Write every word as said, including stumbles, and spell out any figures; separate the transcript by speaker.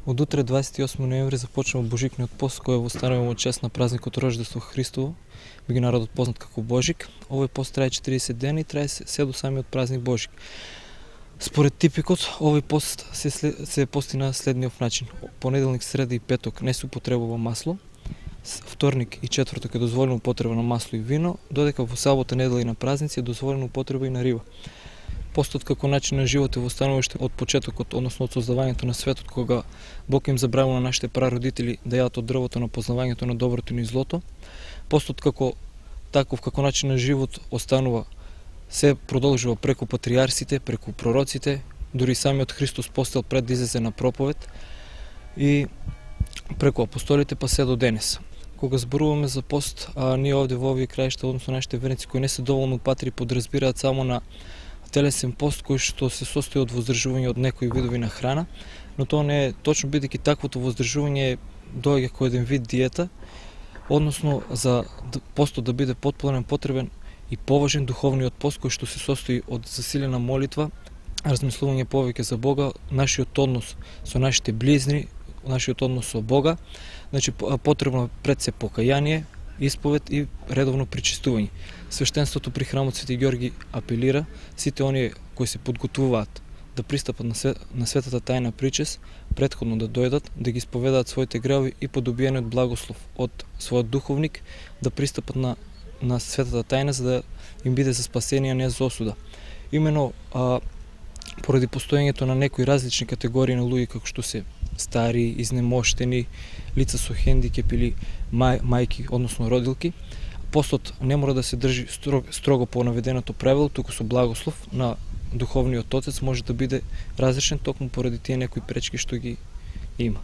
Speaker 1: Од утре дваесет и осми ноември започнува Божикниот пост кој го ставаме во чест на празникот Рождество Христово, би народот познат како Божик. Овој пост трае четириесет дена и трае се до самиот празник Божик. Според типикот, овој пост се, се пости на следниот начин. Понеделник, среда и петок не се употребува масло, вторник и четврток е дозволена употреба на масло и вино, додека во сабота, недела и на празници е дозволена употреба и на риба. Постот како начин на живот е востанува уште од почетокот, односно од создавањето на светот, кога Бог им забравил на нашите прародители да јадат од дрвото на познавањето на доброто и злото. Постот како таков, како начин на живот останува, се продолжува преку патриарсите, преку пророците, дури самиот Христос постел пред да излезе на проповед и преку апостолите па се до денес. Кога зборуваме за пост, а ние овде во овие краишта, односно нашите верници кои не се доволно патри, подразбираат само на телесен пост кој што се состои од воздржување од некои видови на храна, но тоа не е точно, бидејќи таквото воздржување доаѓа како еден вид диета, односно за постот да биде потполен потребен и поважен духовниот пост кој што се состои од засилена молитва, размислување повеќе за Бога, нашиот однос со нашите близни, нашиот однос со Бога, значи потребно пред се покаяние, исповед и редовно причистување. Свештенството при храмот Свети Ѓорги апелира сите оние кои се подготвуваат да пристапат на, свет, на светата тајна причест, претходно да дојдат, да ги исповедаат своите гревови и по добиениот благослов од својот духовник да пристапат на, на светата тајна за да им биде за спасение, а не за осуда. Имено а, поради постоењето на некои различни категории на луѓе како што се стари, изнемоштени, лица со хендикеп или мај, мајки, односно родилки, постот не мора да се држи строго, строго по наведеното правило, туку со благослов на духовниот отец може да биде разрешен токму поради тие некои пречки што ги има.